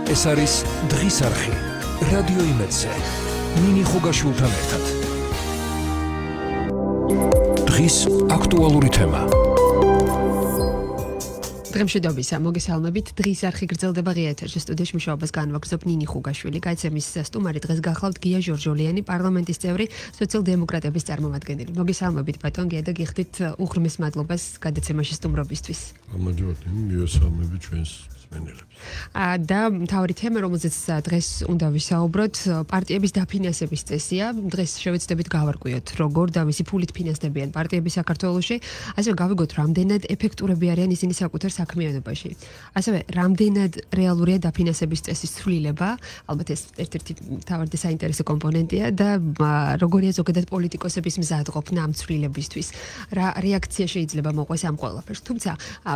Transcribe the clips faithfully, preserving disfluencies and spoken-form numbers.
ეს არის დღის არხი რადიო იმედზე ნინი ხუგაშვილთან ერთად. დღის აქტუალური თემა. დღემშვიდობისა, მოგესალმებით. დღის არხი გრძელდება ღია ეთერში. სტუდიაში მუშაობას განვაგრძობ ნინი ხუგაშვილი. გაიცემის სტუმარი დღეს გახლავთ გია ჟორჟოლიანი, პარლამენტის წევრი, სოციალ-დემოკრატების წარმომადგენელი. მოგესალმებით ბატონ გია და გიხდით უღრმეს მადლობას გადაცემაში სტუმრობისთვის. გამარჯობათ, მივესალმებით ჩვენს მსმენელებს. და მთავარი თემა, რომელზეც დღეს უნდა ვისაუბროთ, პარტიების დაფინანსების წესია. დღეს შევეცდებით გავარკვიოთ, როგორ და ვისი ფულით ფინანსდებიან პარტიები საქართველოში, ასევე გავიგოთ, რამდენად ეფექტურები არიან ისინი საკუთარ საქმიანობაში. ასევე რამდენად რეალურია დაფინანსების წესის ცვლილება, ალბათ ეს ერთ-ერთი მთავარი და საინტერესო კომპონენტია და როგორია ზოგადად პოლიტიკოსების მზადყოფნა ამ ცვლილებისთვის. რა რეაქცია შეიძლება მოყვეს ამ ყველაფერს. თუმცა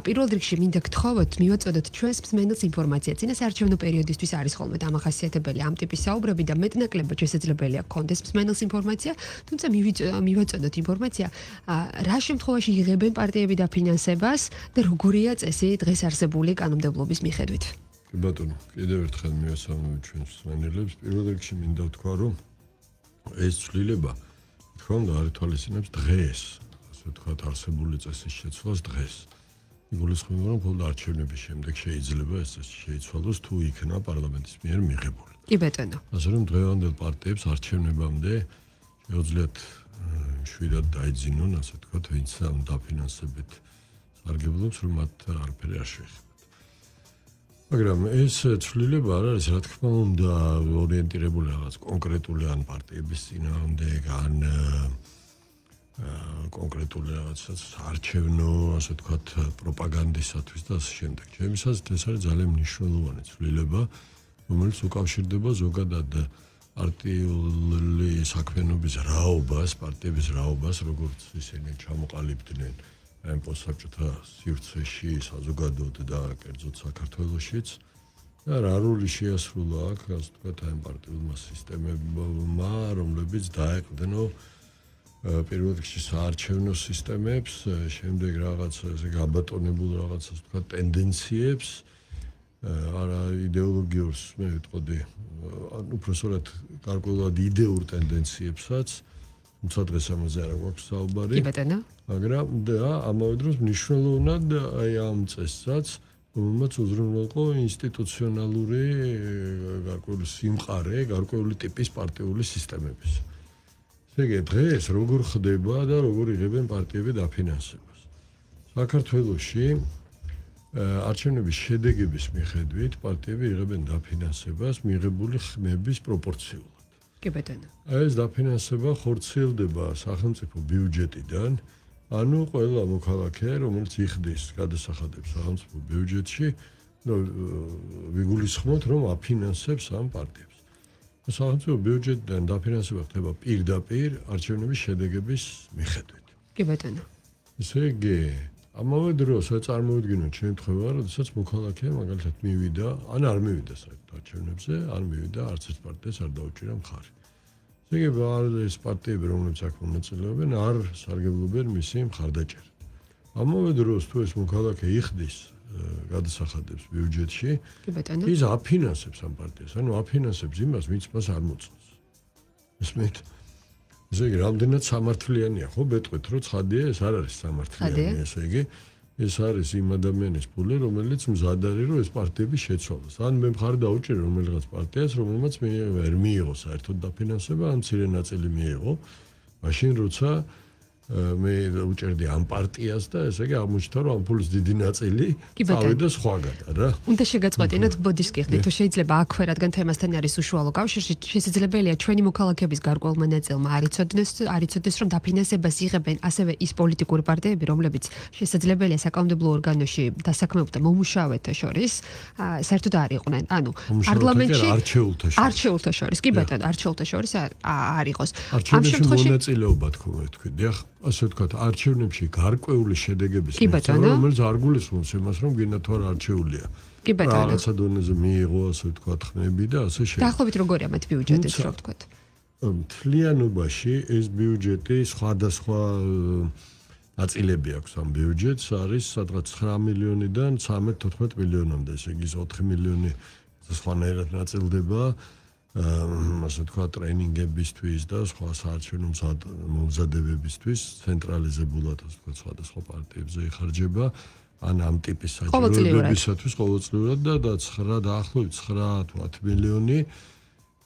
პირველ რიგში მინდა გთხოვოთ, მივაწოდოთ ჩვენს მსმენელს ინფორმაცია. წინა საარჩევნო პერიოდისთვის არის ხოლმე დამახასიათებელი ამ ტიპის საუბრები და მეტნაკლებად შესაძლებელია გქონდეს მსმენელს ინფორმაცია, თუმცა მივაწოდოთ ინფორმაცია, რა შემთხვევაში იღებენ პარტიები დაფინანსებას და როგორია წესი დღეს არსებული კანონმდებლობის მიხედვით. კი ბატონო, კიდევ ერთხელ მივესალმებით ჩვენს მსმენელებს. პირველ რიგში მინდა ვთქვა, რომ ეს ცვლილება თქო უნდა არითვალისწინებს დღეს, ასე ვთქვათ, არსებული წესის შეცვლას დღეს. იგულისხმება, რომ მხოლოდ არჩევნების შემდეგ შეიძლება ეს წესი შეიცვალოს, თუ იქნა პარლამენტის მიერ მიღებული. კი ბატონო. ასე რომ დღევანდელ პარტიებს არჩევნებამდე შეუძლიათ მშვიდად დაიძინონ, ასე ვთქვათ, ვინც ამ დაფინანსებით სარგებლობს, რომ მათ არაფერი არ შეეხებათ. მაგრამ ეს ცვლილება არ არის, რა თქმა უნდა, ორიენტირებული რაღაც კონკრეტული ან პარტიების წინააღმდეგ, ან კონკრეტული რაღაცას არჩევნო, ასე ვთქვათ, პროპაგანდისათვის და ასე შემდეგ. ჩემთვის ეს არის ძალიან მნიშვნელოვანი ცვლილება, რომელიც უკავშირდება ზოგადად პარტიული საქმიანობის რაობას, პარტიების რაობას, როგორც ისინი ჩამოყალიბდნენ ამ პოსტსაბჭოთა სივრცეში, საზოგადოდ და კერძოდ საქართველოშიც. და რა როლი შეასრულა აქ, ასე ვთქვათ, ამ პარტიულმა სისტემებმა, რომლებიც დაეყრდნო პირველ რიგში საარჩევნო სისტემებს, შემდეგ რაღაც ესე გაბატონებულ რაღაც, ასე ვთქვათ, ტენდენციებს, არა იდეოლოგიურს მე ვიტყოდი, უпроსორად გარკვეულად იდეურ ტენდენციებსაც, თუმცა დღეს ამაზე არ გვაქვს საუბარი. კი ბატონო. მაგრამ და ამავე დროს მნიშვნელოვნად აი ამ წესსაც, რომელმაც უზრუნველყო ინსტიტუციონალური გარკვეული სიმყარე, გარკვეული ტიპის პარტიული სისტემების. ესე დღეს როგორ ხდება და როგორ იღებენ პარტიები დაფინანსებას. საქართველოში არჩევნების შედეგების მიხედვით პარტიები იღებენ დაფინანსებას მიღებული ხმების პროპორციულად. კი ბატონო. ეს დაფინანსება ხორციელდება სახელმწიფო ბიუჯეტიდან, ანუ ყველა მოქალაქე, რომელიც იხდის გადასახადებს სახელმწიფო ბიუჯეტში, ვიგულისხმოთ, რომ აფინანსებს ამ პარტიებს. სახელმწიფო ბიუჯეტიდან დაფინანსება ხდება პირდაპირ არჩევნების შედეგების მიხედვით. კი ბატონო. ესე იგი, ამავე დროს წარმოვიდგინოთ შემთხვევა, როდესაც მოქალაქე მაგალითად მივიდა, ან არ მივიდა საერთოდ არჩევნებზე, არ მივიდა, არც ერთ პარტიას არ დაუჭირა მხარი. ესე იგი, ეს პარტიები, რომლებიც აქ მონაწილეობენ, არ სარგებლობენ მისი მხარდაჭერით. ამავე დროს თუ ეს მოქალაქე იხდის გადასახადებს ბიუჯეტში, ის აფინანსებს ამ პარტიას, ანუ აფინანსებს იმას, ვინც მას არ მოწონს. ესმით? ესე იგი, რამდენად სამართლიანია, ხო, ბეტყვით, რომ ცხადია, ეს არ არის სამართლიანი, ესე იგი, ეს არის იმ ადამიანის ფული, რომელიც მზად არის, რომ ეს პარტიები შეცვალოს. ან მე მხარი დაუჭირე რომელიღაც პარტიას, რომელმაც მე ვერ მიიღო საერთოდ დაფინანსება, ან მცირე ნაწილი მიიღო, მაშინ როცა მე უჭერდი ამ პარტიას და ესე იგი აღმოჩნდა რომ ამ ფულის დიდი ნაწილი წავიდა სხვაგან რა. უნდა შეგაწყვეტინოთ ბოდიშს გიხდით, თუ შეიძლება აქვე, რადგან თემასთან არის უშუალო კავშირში, შესაძლებელია ჩვენი მოქალაქეების გარკვეულმა ნაწილმა არ იცოდნენ, არ იცოდნენ, რომ დაფინანსებას იღებენ ასევე ის პოლიტიკური პარტიები, რომლებიც შესაძლებელია საკანონმდებლო ორგანოში დასაქმებულთა მომუშავეთა შორის საერთოდ არ იყვნენ. ანუ პარლამენტში არჩეულთა შორის, კი ბატონო, არჩეულთა შორის არ იყოს. ამ შემთხვევაში მონაწილეობა თქო თქვი, დიახ. ასე ვთქვათ, არჩევნებში გარკვეული შედეგების მიხედვით, რომელიც არ გულისხმობს იმას, რომ გინდა თუ არ არჩეულია. კი ბატონო. რაღაცა დონეზე მიიღო, ასე ვთქვათ, ხმები და ასე შემდეგ. დაახლოებით როგორია მათ ბიუჯეტიც, რა ვთქვათ. მთლიანობაში ეს ბიუჯეტი სხვადასხვა ნაწილები აქვს ამ ბიუჯეტს, არის სადღაც ცხრა მილიონიდან ცხრამეტ თოთხმეტ მილიონამდე, ესე იგი ოთხი მილიონი სხვანაირად ნაწილდება ასე თქვა ტრენინგებისთვის და სხვა საარჩევნო მომზადებებისთვის ცენტრალიზებულად ასე თქვა სხვადასხვა პარტიებზე იხარჯება ან ამ ტიპის საჭიროებებისათვის ყოველწლიურად და ცხრა დაახლოებით ცხრა თუ ათი მილიონი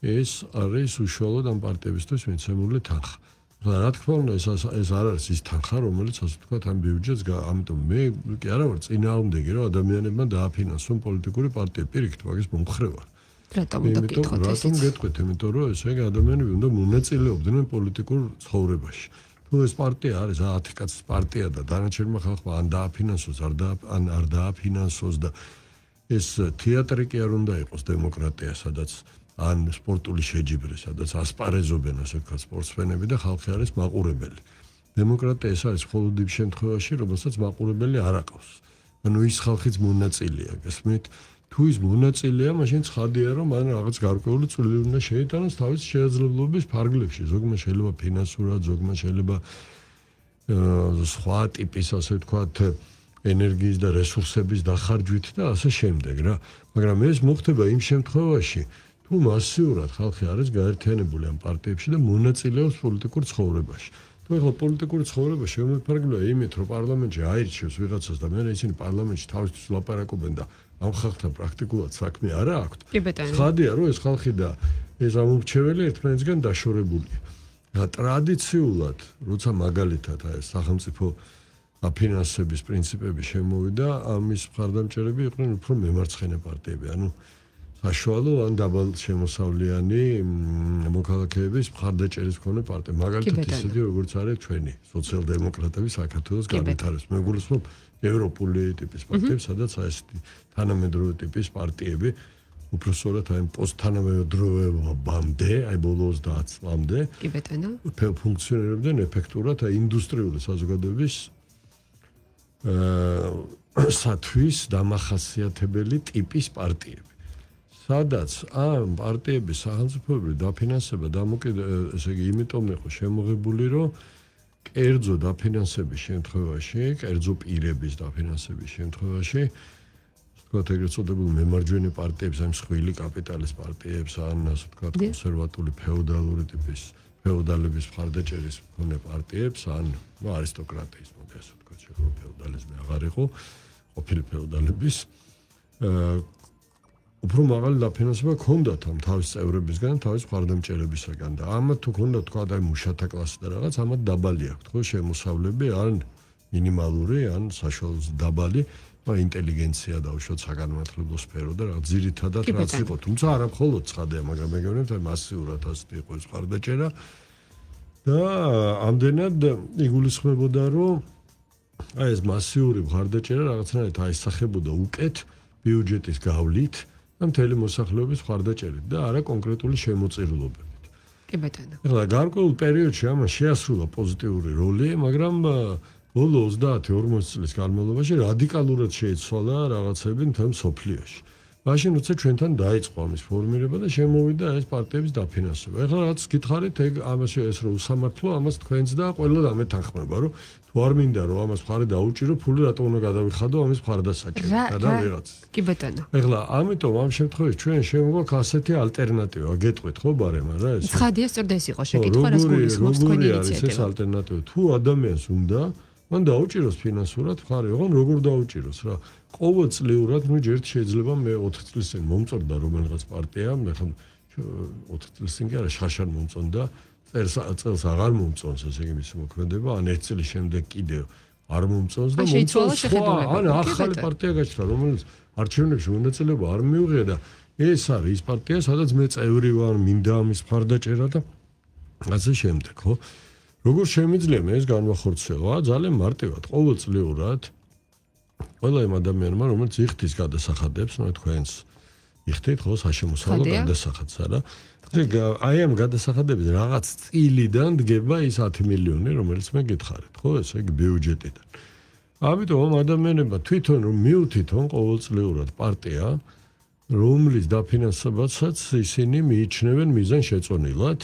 ეს არის უშუალოდ ამ პარტიებისთვის მიცემული თანხა. რა თქმა უნდა ეს ეს არ არის ის თანხა რომელიც ასე თქვა ამ ბიუჯეტს ამიტომ მე კი არა ვარ წინააღმდეგი რომ ადამიანებმა დააფინანსონ პოლიტიკური პარტიები პირიქით მაგის მომხრე ვარ. რატომ უნდა გითხოთ ეს? რატომ გეტყვით? იმიტომ რომ ესე იგი ადამიანები უნდა მონაწილეობდნენ პოლიტიკურ ცხოვრებაში. თუ ეს პარტია არის ათი კაცის პარტია და დანარჩენმა ხალხმა ან დააფინანსოს არ და ან არ დააფინანსოს და ეს თეატრი კი არ უნდა იყოს დემოკრატია, სადაც ან სპორტული შეჯიბრი, სადაც ასპარეზობენ ასე ვთქვათ სპორტსმენები და ხალხი არის მაყურებელი. დემოკრატია ეს არის მხოლოდ იმ შემთხვევაში, რომელსაც მაყურებელი არ აყავს. ანუ ის ხალხიც მონაწილეა, გასმით? თუ ის მონაწილეა, მაშინ ცხადია, რომ მან რაღაც გარკვეული წვლილი უნდა შეიტანოს თავის შესაძლებლობის ფარგლებში. ზოგმა შეიძლება ფინანსურად, ზოგმა შეიძლება სხვა ტიპის ასე ვთქვათ ენერგიის და რესურსების დახარჯვით და ასე შემდეგ რა. მაგრამ ეს მოხდება იმ შემთხვევაში, თუ მასიურად ხალხი არის გაერთიანებული ამ პარტიებში და მონაწილეობს პოლიტიკურ ცხოვრებაში. თუ ეხლა პოლიტიკური ცხოვრება შემოფარგლია იმით, რომ პარლამენტში აირჩევს ვიღაცას და მერე ისინი პარლამენტში თავისთვის ლაპარაკობენ და ამ ხალხთან პრაქტიკულად საქმე არ აქვს. ხადია, რომ ეს ხალხი და ეს ამორჩეველი ერთმანეთისგან დაშორებულია. და ტრადიციულად, როცა მაგალითად ეს სახელმწიფო აფინანსების პრინციპები შემოვიდა, ამის მხარდამჭერები იყვნენ უფრო მემარცხენე პარტიები. ანუ საშუალო ან დაბალ შემოსავლიანი მოქალაქეების მხარდაჭერის მქონე პარტია. მაგალითად ისეთი როგორც არის ჩვენი სოციალ-დემოკრატები საქართველოს განვითარების. მე გულისხმობ ევროპული ტიპის პარტიებს, სადაც ეს თანამედროვე ტიპის პარტიები უბრალოდ აი პოსტთანამედროვეობამდე, აი ბოლო ოცდაათ წლამდე კი ბატონო ფუნქციონირებდნენ ეფექტურად აი ინდუსტრიული საზოგადოების აა სათვის დამახასიათებელი ტიპის პარტიები. სადაც ამ პარტიების სახელმწიფოებრივი დაფინანსება დამოკიდე ესე იგი იმიტომ იყო შემოღებული, რომ კერძო დაფინანსების შემთხვევაში, კერძო პირების დაფინანსების შემთხვევაში, ვთქვათ, ეგრეთ წოდებულ მემარჯვენე პარტიებს, ამ მსხვილი კაპიტალის პარტიებს, ან ასე ვთქვათ, კონსერვატული ფეოდალური ტიპის ფეოდალების მხარდაჭერის მქონე პარტიებს, ან ნუ არისტოკრატიის მოდი ასე ვთქვათ, შეგვიძლია ფეოდალიზმი აღარ იყო, ყოფილი ფეოდალების აა უფრო მაღალი დაფინანსება ჰქონდათ ამ თავის წევრებისგან, თავის მხარდამჭერებისგან და ამათ თუ ჰქონდათ თქვა და მუშათა კლასი და რაღაც, ამათ დაბალი აქვთ ხო შემოსავლები, ან მინიმალური, ან საშუალო დაბალი, და ინტელიგენცია დაუშვათ საგანმანათლებლო სფერო და რაღაც ძირითადად რაც იყო, თუმცა არა მხოლოდ ცხადია, მაგრამ მეგონებთ აი მასიურად ასეთი იყო ეს მხარდაჭერა და ამდენად იგულისხმებოდა, რომ აი ეს მასიური მხარდაჭერა რაღაცნაირად აისახებოდა უკეთ ბიუჯეტის გავლით და მთელი მოსახლეობის მხარდაჭერით და არა კონკრეტული შემოწირულობებით. კი ბატონო. ეხლა გარკვეულ პერიოდში ამას შეასრულა პოზიტიური როლი, მაგრამ ბოლო ოცდაათი ორმოცი წლის განმავლობაში რადიკალურად შეიცვალა რაღაცები მთელ მსოფლიოში. მაშინ როცა ჩვენთან დაიწყო ამის ფორმირება და შემოვიდა ეს პარტიების დაფინანსება. ეხლა რაც გითხარით, ეგ ამაში ეს რო უსამართლო, ამას თქვენც და ყველა ამეთანხმება, რომ თუ არ მინდა რომ ამას მხარი დაუჭირო, ფული რატომ უნდა გადავიხადო ამის მხარდასაჭერად და ვიღაც. კი ბატონო. ეხლა ამიტომ ამ შემთხვევაში ჩვენ შემოგვაქვს ასეთი ალტერნატივა, გეტყვით ხო ბარემ რა ეს? ცხადია, სწორდა ეს იყო შეკითხვა, რას გულისხმობს თქვენი ინიციატივა. ეს ალტერნატივა თუ ადამიანს უნდა მან დაუჭიროს ფინანსურად მხარი, ოღონ როგორ დაუჭიროს რა? ყოველწლიურად, ну ჯერ შეიძლება მე ოთხ წლის წინ მომწონდა რომელიღაც პარტია, მე ხომ ოთხ წლის წინ კი არა შარშან მომწონდა, წელს წელს აღარ მომწონს ესე იგი მისი მოქმედება, ან ერთ წლის შემდეგ კიდევ არ მომწონს და მომწონს სხვა, ან ახალი პარტია გაჩნდა, რომელიც არჩევნებში მონაწილეობა არ მიუღია და ეს არის ის პარტია, სადაც მე წევრი ვარ, მინდა ამის მხარდაჭერა და ასე შემდეგ, ხო? როგორ შემიძლია მე ეს განვახორციელო? ძალიან მარტივად, ყოველწლიურად ყველა იმ ადამიანმა, რომელიც იხდის გადასახადებს, ნუ თქვენს იხდით ხო საშემოსავლო გადასახადს, არა? აი ამ გადასახადების რაღაც წილიდან დგება ის ათი მილიონი, რომელიც მე გითხარით, ხო, ესე იგი ბიუჯეტიდან. ამიტომ ამ ადამიანებმა თვითონ რომ მიუთითონ ყოველწლიურად პარტია, რომლის დაფინანსებასაც ისინი მიიჩნევენ მიზანშეწონილად,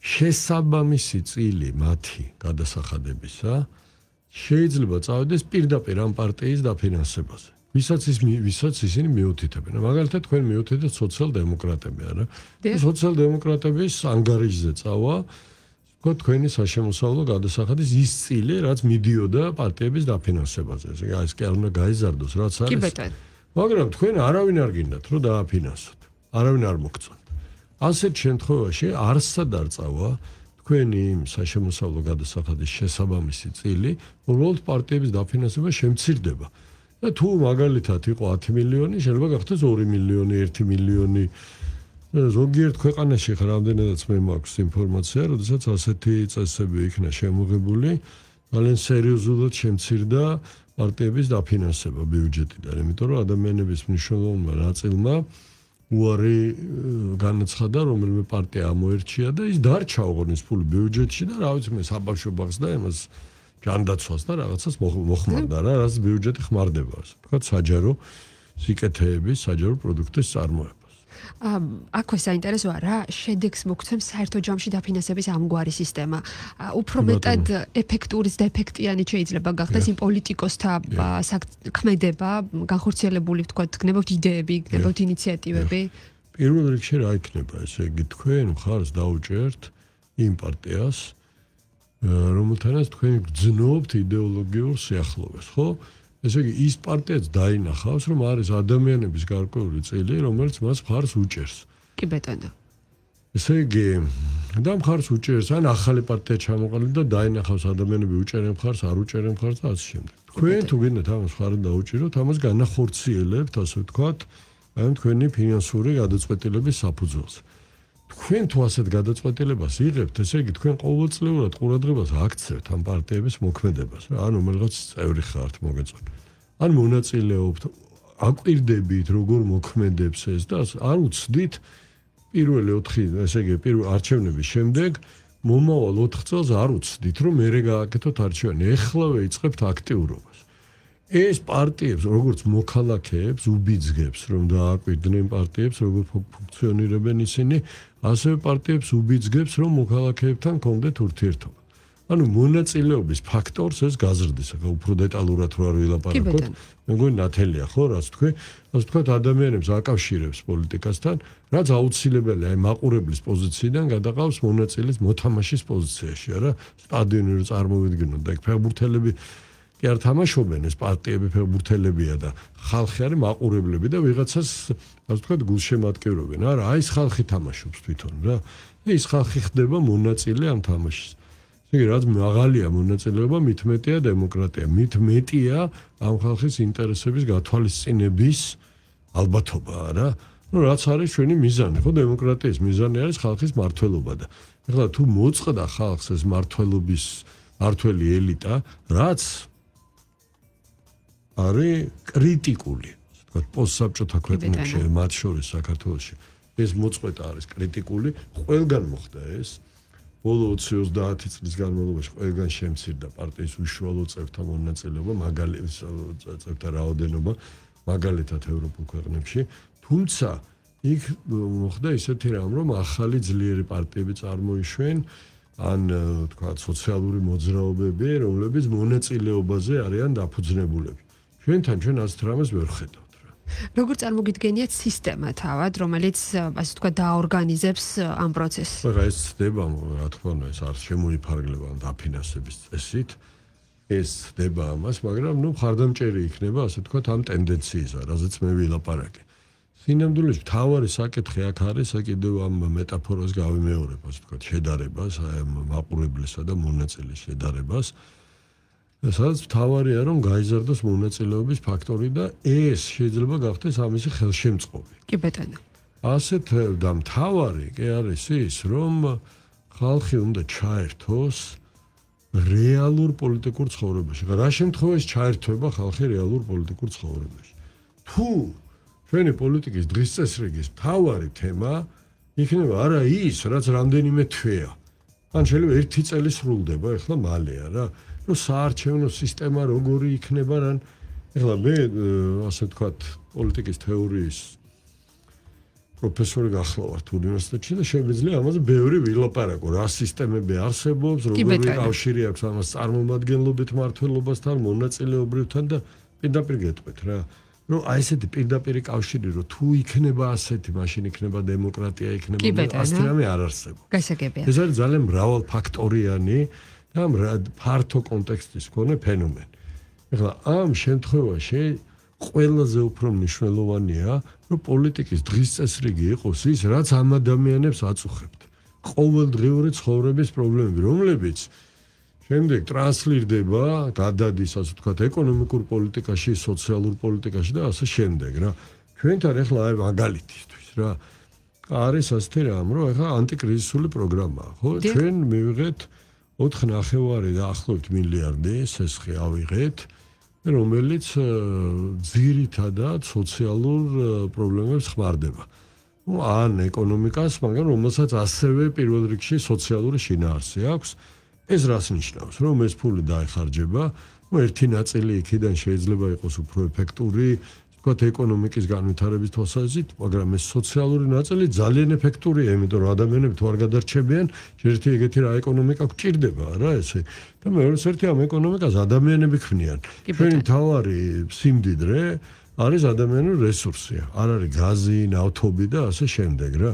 შესაბამისი წილი მათი გადასახადებისა შეიძლება წავიდეს პირდაპირ ამ პარტიის დაფინანსებაზე. ვისაც ის ვისაც ისინი მიუთითებენ. მაგალითად თქვენ მიუთითებთ სოციალ-დემოკრატები, არა? სოციალ-დემოკრატების ანგარიშზე წავა, თქო თქვენი საშემოსავლო გადასახადის ის წილი, რაც მიდიოდა პარტიების დაფინანსებაზე. ესე იგი, ეს კი არ უნდა გაიზარდოს, რაც არის. კი ბატონო. მაგრამ თქვენ არავინ არ გინდათ, რომ დააფინანსოთ. არავინ არ მოგწონთ. ასეთ შემთხვევაში არსად არ წავა თქვენი იმ საშემოსავლო გადასახადის შესაბამისი წილი, უბრალოდ პარტიების დაფინანსება შემცირდება. და თუ მაგალითად იყო ათი მილიონი, შეიძლება გახდეს ორი მილიონი, ერთი მილიონი. ზოგიერთ ქვეყანაში ხარ რამდენადაც მე მაქვს ინფორმაცია, როდესაც ასეთი წესები იქნა შემოღებული, ძალიან სერიოზულად შემცირდა პარტიების დაფინანსება ბიუჯეტიდან, იმიტომ რომ ადამიანების მნიშვნელოვანმა ნაწილმა უარი განაცხადა, რომელიმე პარტია ამოერჩია და ის დარჩა ოღონდ ის ფული ბიუჯეტში და რა ვიცი მე საბავშვო ბაღს და იმას ჯანდაცვას და რაღაცას მოხმარდა რა, რაც ბიუჯეტი ხმარდება, ასე ვთქვათ, საჯარო სიკეთეების, საჯარო პროდუქტის წარმოებას. აქვე საინტერესოა რა შედეგს მოგცემს საერთო ჯამში დაფინანსების ამგვარი სისტემა. უფრო მეტად ეფექტურიც და ეფექტიანი შეიძლება გახდეს იმ პოლიტიკოსთა ქმედება, განხორციელებული ვთქვათ, გნებავთ იდეები, გნებავთ ინიციატივები. პირველ რიგში რა იქნება, ესე იგი თქვენ მხარს დაუჭერთ იმ პარტიას, რომელთანაც თქვენ გძნობთ იდეოლოგიურ სიახლოვეს, ხო? ესე იგი ის პარტიაც დაინახავს, რომ არის ადამიანების გარკვეული წილი, რომელიც მას მხარს უჭერს. კი ბატონო. ესე იგი და მხარს უჭერს, ან ახალი პარტია ჩამოყალიბდა და დაინახავს ადამიანები უჭერენ მხარს, არ უჭერენ მხარს და ასე შემდეგ. თქვენ თუ გინდათ ამას მხარი დაუჭიროთ, ამას განახორციელებთ, ასე ვთქვათ, აი თქვენი ფინანსური გადაწყვეტილების საფუძველზე. თქვენ თუ ასეთ გადაწყვეტილებას იღებთ, ესე იგი თქვენ ყოველწლიურად ყურადღებას აქცევთ ამ პარტიების მოქმედებას, რა, ანუ რაღაც წევრი ხართ მოგეწონთ. ან მონაწილეობთ, აკვირდებით როგორ მოქმედებს ეს და არ უცდით პირველი ოთხი, ესე იგი პირველ არჩევნების შემდეგ მომავალ ოთხ წელს არ უცდით, რომ მერე გააკეთოთ არჩევანი. ეხლავე იწყებთ აქტიურობას. ეს პარტიებს, როგორც მოქალაქეებს, უბიძგებს, რომ დააკვირდნენ პარტიებს, როგორ ფუნქციონირებენ ისინი, ასევე პარტიებს უბიძგებს, რომ მოქალაქეებთან კონდეთ ურთიერთობა. ანუ მონაწილეობის ფაქტორს ეს გაზრდის, ახლა უფრო დეტალურად რო არ ვილაპარაკოთ, მე მგონი ნათელია, ხო, რაც თქვი, ასე ვთქვათ, ადამიანებს აკავშირებს პოლიტიკასთან, რაც აუცილებელია აი მაყურებლის პოზიციიდან გადაყავს მონაწილის მოთამაშის პოზიციაში, არა? სტადიონი რო წარმოვიდგინოთ და იქ ფეხბურთელები კი არ თამაშობენ, ეს პარტიები ფეხბურთელებია და ხალხი არის მაყურებლები და ვიღაცას, ასე ვთქვათ, გულშემატკივრობენ. არა, აი ეს ხალხი თამაშობს თვითონ რა. ეს ხალხი ხდება მონაწილე ამ თამაშის. იგი რაც მაღალია მონაწილეობა, მით მეტია დემოკრატია, მით მეტია ამ ხალხის ინტერესების გათვალისწინების ალბათობა, რა. ну რაც არის ჩვენი მიზანი, ხო, დემოკრატიის მიზანი არის ხალხის მართლობა და ეხლა თუ მოწყდა ხალხს ეს მართლობის მართველი ელიტა, რაც არის კრიტიკული, ასე ვთქვათ, პოსტსაბჭოთა ქვეყნებში, მათ შორის საქართველოში, ეს მოწყვეტა არის კრიტიკული, ყველგან მოხდა ეს. ბოლო ოცი ოცდაათი წლის განმავლობაში ყველგან შემცირდა პარტიის უშუალო წევრთა მონაწილეობა, მაგალითად წევრთა რაოდენობა, მაგალითად ევროპულ ქვეყნებში, თუმცა იქ მოხდა ისეთი რამ, რომ ახალი ძლიერი პარტიები წარმოიშვენ, ან თქვა სოციალური მოძრაობები, რომლებიც მონაწილეობაზე არიან დაფუძნებულები. ჩვენთან ჩვენ ასეთ რამეს ვერ ხედავთ. როგორ წარმოგიდგენიათ სისტემა თავად, რომელიც ასე ვთქვა დაორგანიზებს ამ პროცესს? რა ეს ხდება, რა თქმა უნდა, ეს არ შემოიფარგლება დაფინანსების წესით. ეს ხდება ამას, მაგრამ ნუ ხარდამჭერი იქნება, ასე ვთქვათ, ამ ტენდენციისა, რაზეც მე ვილაპარაკე. სინამდვილეში მთავარი საკითხი აქ არის, კიდევ ამ მეტაფორას გავიმეორებ, ასე ვთქვათ, შედარებას, აი ამ მაყურებლისა და მონაწილის შედარებას. სადაც მთავარია, რომ გაიზარდოს მონაწილეობის ფაქტორი და ეს შეიძლება გახდეს ამისი ხელშემწყობი. კი ბატონო. ასეთ და მთავარი კი არის ის, რომ ხალხი უნდა ჩაერთოს რეალურ პოლიტიკურ ცხოვრებაში. რა შემთხვევაში ჩაერთვება ხალხი რეალურ პოლიტიკურ ცხოვრებაში? თუ ჩვენი პოლიტიკის დღის წესრიგის მთავარი თემა იქნება არა ის, რაც რამდენიმე თვეა. ან შეიძლება ერთი წელი სრულდება, ეხლა მალეა რა. ну საარჩევნო სისტემა როგორი იქნება რან ეხლა მე ასე ვთქვათ პოლიტიკის თეორიის პროფესორი გახლავართ უნივერსიტეტში და შემიძლია ამაზე ბევრი ვილაპარაკო რა სისტემები არსებობს როგორი კავშირი აქვს ამას წარმომადგენლობით მართლობასთან მონაწილეობრივთან და პირდაპირ გეტყვით რა ну რომ აი ესეთი პირდაპირი კავშირი რომ თუ იქნება ასეთი, მაშინ იქნება დემოკრატია, იქნება ასეთი რამე არ არსებობს. გასაგებია. ეს არის ძალიან მრავალფაქტორიანი და ფართო კონტექსტის მქონე ფენომენი. ეხლა ამ შემთხვევაში ყველაზე უფრო მნიშვნელოვანია, რომ პოლიტიკის დღის წესრიგი იყოს ის, რაც ამ ადამიანებს აწუხებთ. ყოველდღიური ცხოვრების პრობლემები, რომლებიც შემდეგ ტრანსლირდება, გადადის, ასე ვთქვათ, ეკონომიკურ პოლიტიკაში, სოციალურ პოლიტიკაში და ასე შემდეგ, რა. ჩვენთან ეხლა აი მაგალითისთვის, რა. არის ასეთი რამ, რომ ეხლა ანტიკრიზისული პროგრამაა, ხო? ჩვენ მივიღეთ ოთხ ნახევარი დაახლოებით მილიარდი სესხი ავიღეთ, რომელიც ძირითადად სოციალურ პრობლემებს ხმარდება. ან ეკონომიკას, მაგრამ რომელსაც ასევე პირველ რიგში სოციალური შინაარსი აქვს. ეს რას ნიშნავს, რომ ეს ფული დაიხარჯება, ну ერთი ნაწილი იქიდან შეიძლება იყოს უფრო ეფექტური, თქვათ ეკონომიკის განვითარების თვალსაზრისით, მაგრამ ეს სოციალური ნაწილი ძალიან ეფექტურია, იმიტომ რომ ადამიანები თუ არ გადარჩებიან, ერთი ეგეთი რა ეკონომიკა გვჭირდება, რა ესე. და მეორე ერთი ამ ეკონომიკას ადამიანები ქმნიან. ჩვენი მთავარი სიმდიდრე არის ადამიანური რესურსი, არ არის გაზი, ნავთობი და ასე შემდეგ, რა.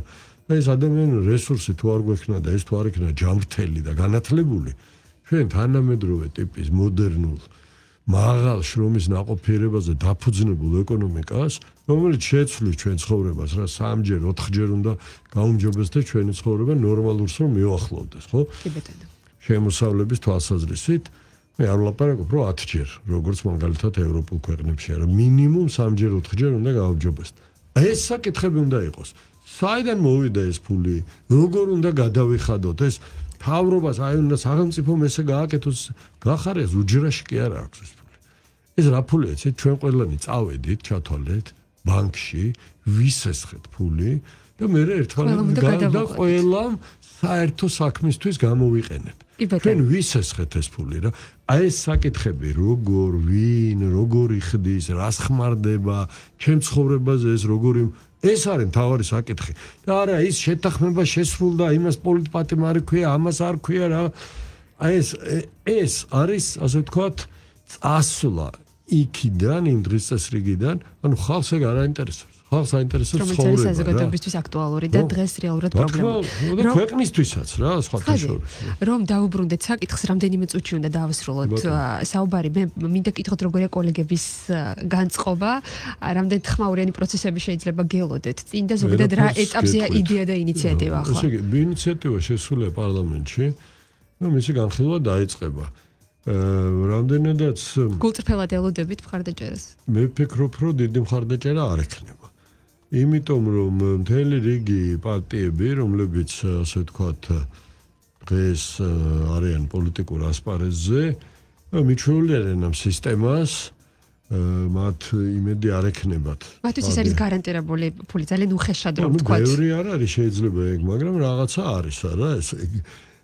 და ეს ადამიანური რესურსი თუ არ გვექნა და ეს თუ არ იქნა ჯანმრთელი და განათლებული, ჩვენ თანამედროვე ტიპის მოდერნულ მაღალ შრომის ნაყოფიერებაზე დაფუძნებულ ეკონომიკას, რომელიც შეცვლის ჩვენ ცხოვრებას, რა სამჯერ, ოთხჯერ უნდა გაუმჯობესდეს ჩვენი ცხოვრება ნორმალურს რომ მიუახლოვდეს, ხო? კი ბატონო. შემოსავლების თვალსაზრისით მე არ ვლაპარაკობ, რომ ათჯერ, როგორც მაგალითად ევროპულ ქვეყნებში, რა მინიმუმ სამჯერ, ოთხჯერ უნდა გაუმჯობესდეს. ეს საკითხები უნდა იყოს. საიდან მოვიდა ეს ფული? როგორ უნდა გადავიხადოთ ეს? თავრობას აი უნდა სახელმწიფომ ესე გააკეთოს, გახარეს უჯრაში კი არ აქვს ეს ფული. ეს რა ფულია, იცით, ჩვენ ყველანი წავედით, ჩათვალეთ ბანკში, ვისესხეთ ფული და მე ერთმანეთს და ყველამ საერთო საქმისთვის გამოვიყენეთ. ჩვენ ვისესხეთ ეს ფული რა. აი ეს საკითხები, როგორ, ვინ, როგორ იხდის, რას ხმარდება, ჩემ ცხოვრებაზე ეს როგორი ეს არის მთავარი საკითხი. და არა ის შეთანხმება შესრულდა, იმას პოლიტპატიმ არ ქვია, ამას არ ქვია რა. აი ეს ეს არის, ასე ვთქვათ, წასვლა იქიდან, იმ დღის წესრიგიდან, ანუ ხალხს ეგ არ აინტერესებს. ხალხს აინტერესებს ცხოვრება. რომელიც არის საზოგადოებისთვის აქტუალური და დღეს რეალურად პრობლემა. და ქვეყნისთვისაც რა, სხვათა შორის. რომ დაუბრუნდეთ საკითხს, რამდენიმე წუთში უნდა დავასრულოთ საუბარი. მე მინდა გითხოთ, როგორია კოლეგების განწყობა, რამდენ ხმაურიანი პროცესები შეიძლება გელოდეთ წინ და ზოგადად რა ეტაპზეა იდეა და ინიციატივა ახლა. ესე იგი, ინიციატივა შესულია პარლამენტში, ну მისი განხილვა დაიწყება. რამდენადაც გულწრფელად ელოდებით მხარდაჭერას. მე ვფიქრობ, რომ დიდი მხარდაჭერა არ ექნება. იმიტომ რომ მთელი რიგი პარტიები, რომლებიც ასე ვთქვათ, დღეს არიან პოლიტიკურ ასპარეზზე, მიჩვეული არიან ამ სისტემას, მათ იმედი არ ექნებათ. მათთვის ეს არის გარანტირებული ფული, ძალიან უხეშად რომ ну ვთქვათ. ბევრი არ არის შეიძლება ეგ, მაგრამ რაღაცა არის არა ეს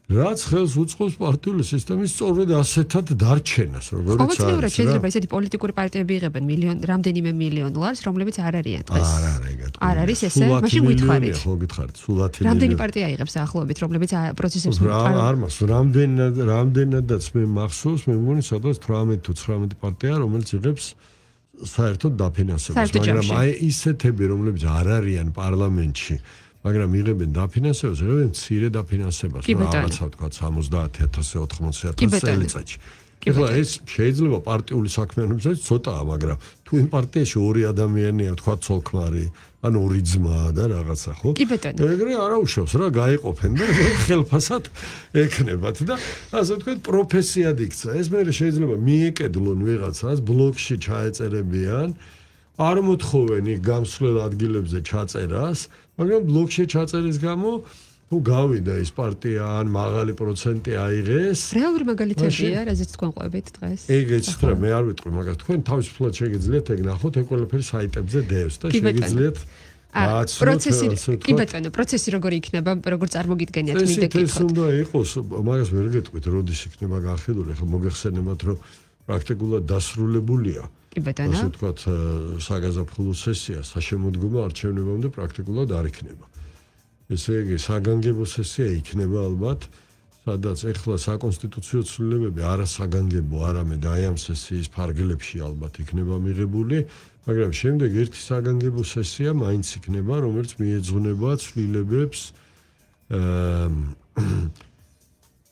რაც ხელს უწყობს პარტიული სისტემის სწორედ ასეთად დარჩენას, როგორც არის. ყოველწლიურად შეიძლება ესეთი პოლიტიკური პარტიები იღებენ მილიონ, რამდენიმე მილიონ ლარს, რომლებიც არ არიან დღეს. არ არის ეგეთ. არ არის ესე, მაშინ გითხარით. ხო გითხარით, სულად რამდენი პარტია იღებს ახლობით, რომლებიც პროცესებს არ მას, რამდენად რამდენადაც მე მახსოვს, მე მგონი სადღაც თვრამეტ თუ ცხრამეტ პარტია, რომელიც იღებს საერთოდ დაფინანსებას, მაგრამ აი ისეთები, რომლებიც არ არიან პარლამენტში მაგრამ იღებენ დაფინანსებას, იღებენ მცირე დაფინანსებას, რაღაცა თქვა სამოცდაათი ათასი ოთხმოცი ათასი წელიწადში. ეხლა ეს შეიძლება პარტიული საქმიანობისათვის ცოტაა, მაგრამ თუ იმ პარტიაში ორი ადამიანია, თქვა ცოლ-ქმარი, ან ორი ძმა და რაღაცა, ხო? ეგრე არა უშავს რა, გაიყოფენ და ხელფასად ექნებათ და ასე ვთქვათ, პროფესიად იქცა. ეს მე შეიძლება მიეკედლონ ვიღაცას, ბლოკში ჩაეწერებიან, არ მოთხოვენ იქ გამსვლელ ადგილებზე ჩაწერას, მაგრამ ბლოკში ჩაწერის გამო თუ გავიდა ის პარტია ან მაღალი პროცენტი აიღეს. რეალური მაგალითებია, რაზეც თქვენ ყვებით დღეს. ეგეც რა, მე არ ვიტყვი, მაგრამ თქვენ თავისუფლად შეგიძლიათ ეგ ნახოთ, ეგ ყველაფერი საიტებზე დევს და შეგიძლიათ პროცესი, კი ბატონო, პროცესი როგორი იქნება, როგორ წარმოგიდგენიათ მინდა გითხოთ. ეს უნდა იყოს, მაგას ვერ გეტყვით, როდის იქნება განხილული, ხო მოგეხსენებათ, რომ პრაქტიკულად დასრულებულია. კი ბატონო. ასე ვთქვათ, საგაზაფხულო სესია, საშემოდგომო არჩევნებამდე პრაქტიკულად არ იქნება. ესე იგი, საგანგებო სესია იქნება ალბათ, სადაც ეხლა საკონსტიტუციო ცვლილებები არასაგანგებო, არამედ აი ამ სესიის ფარგლებში ალბათ იქნება მიღებული, მაგრამ შემდეგ ერთი საგანგებო სესია მაინც იქნება, რომელიც მიეძღვნება ცვლილებებს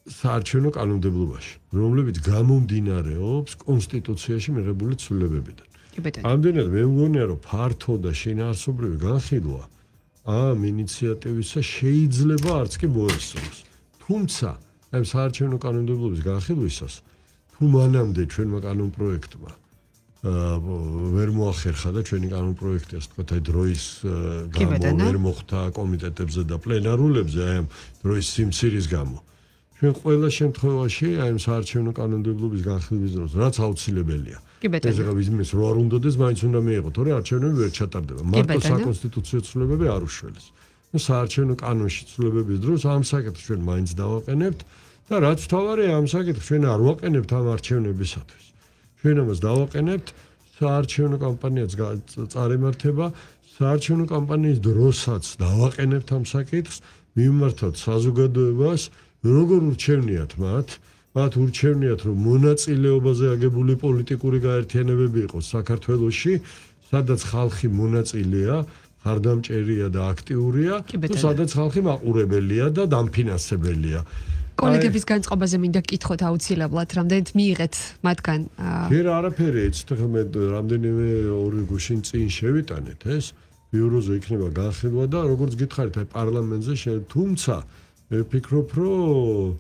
საარჩევნო კანონმდებლობაში, რომლებიც გამომდინარეობს კონსტიტუციაში მიღებული ცვლილებებიდან. ამდენად მე მგონია, რომ ფართო და შინაარსობრივი განხილვა ამ ინიციატივისა შეიძლება არც კი მოესწროს. თუმცა, ამ საარჩევნო კანონმდებლობის განხილვისას, თუ მანამდე ჩვენმა კანონპროექტმა ვერ მოახერხა და ჩვენი კანონპროექტი, ასე ვთქვათ, აი დროის გამო ვერ მოხდა კომიტეტებზე და პლენარულებზე, აი ამ დროის სიმცირის გამო. ჩვენ ყველა შემთხვევაში აი ამ საარჩევნო კანონმდებლობის განხილვის დროს, რაც აუცილებელია. ეს რა ვიზმის რო არ უნდადეს, მაინც უნდა მიიღო, თორე არჩევნები ვერ ჩატარდება. მარტო საკონსტიტუციო ცვლილებები არ უშველეს. ნუ საარჩევნო კანონში ცვლილებების დროს ამ საკითხს ჩვენ მაინც დავაყენებთ და რაც თავარია ამ საკითხს ჩვენ არ ვაყენებთ ამ არჩევნებისათვის. ჩვენ ამას დავაყენებთ საარჩევნო კამპანიაც წარემართება, საარჩევნო კამპანიის დროსაც დავაყენებთ ამ საკითხს, მიმართავთ საზოგადოებას, როგორ ურჩევნიათ მათ, მათ ურჩევნიათ, რომ მონაწილეობაზე აგებული პოლიტიკური გაერთიანებები იყოს საქართველოში, სადაც ხალხი მონაწილეა, ხარდამჭერია და აქტიურია, თუ სადაც ხალხი მაყურებელია და დამფინანსებელია. კოლეგების განწყობაზე მინდა გკითხოთ აუცილებლად, რამდენად მიიღეთ მათგან? ჯერ არაფერი ეცით, ხომ მე რამდენიმე ორი გუშინ წინ შევიტანეთ ეს, ბიუროზე იქნება განხილვა და როგორც გითხარით, აი პარლამენტზე შე, თუმცა მე ვფიქრობ, რომ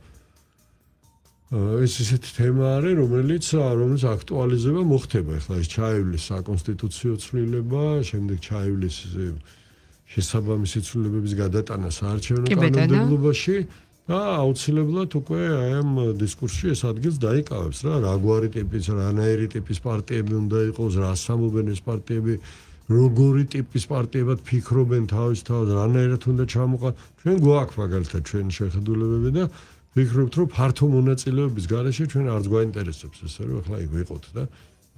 ეს ისეთი თემა არის, რომელიც რომელიც აქტუალიზება მოხდება. ეხლა ეს ჩაივლის საკონსტიტუციო ცვლილება, შემდეგ ჩაივლის შესაბამისი ცვლილებების გადატანა საარჩევნო კანონმდებლობაში და აუცილებლად უკვე აი ამ დისკურსში ეს ადგილს დაიკავებს რა, რა გვარი ტიპის, რანაირი ტიპის პარტიები უნდა იყოს, რა სამობენ ეს პარტიები, როგორი ტიპის პარტიებად ფიქრობენ თავის თავს, რანაირად უნდა ჩამოყალიბდეს. ჩვენ გვაქვს მაგალითად ჩვენი შეხედულებები და ვფიქრობთ, რომ ფართო მონაწილეობის გარეშე ჩვენ არც გვაინტერესებს ეს, რომ ახლა იქ ვიყოთ და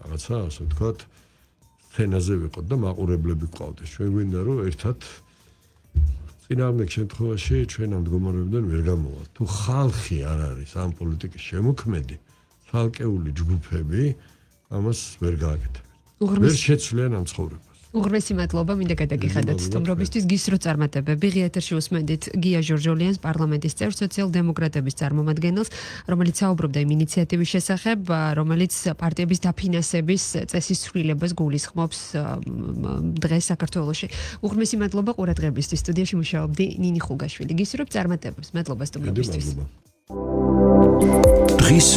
რაღაცა, ასე ვთქვათ, სცენაზე ვიყოთ და მაყურებლები გვყავდეს. ჩვენ გვინდა რომ ერთად წინააღმდეგ შემთხვევაში ჩვენ ამ მდგომარეობიდან ვერ გამოვართ. თუ ხალხი არ არის ამ პოლიტიკის შემოქმედი, ცალკეული ჯგუფები ამას ვერ გააკეთებენ. ვერ შეცვლიან ამ ცხოვრებას. უღრმესი მადლობა, მინდა გადაგიხადოთ სტუმრობისთვის. გისრო წარმატებები. ღია ეთერში უსმენდით გია ჟორჟოლიანს, პარლამენტის წევრს, სოციალ-დემოკრატების წარმომადგენელს, რომელიც საუბრობდა იმ ინიციატივის შესახებ, რომელიც პარტიების დაფინანსების წესის ცვლილებას გულისხმობს დღეს საქართველოში. უღრმესი მადლობა ყურადღებისთვის. სტუდიაში მუშაობდი ნინი ხუგაშვილი. გისურვებ წარმატებებს. მადლობა სტუმრობისთვის. დღის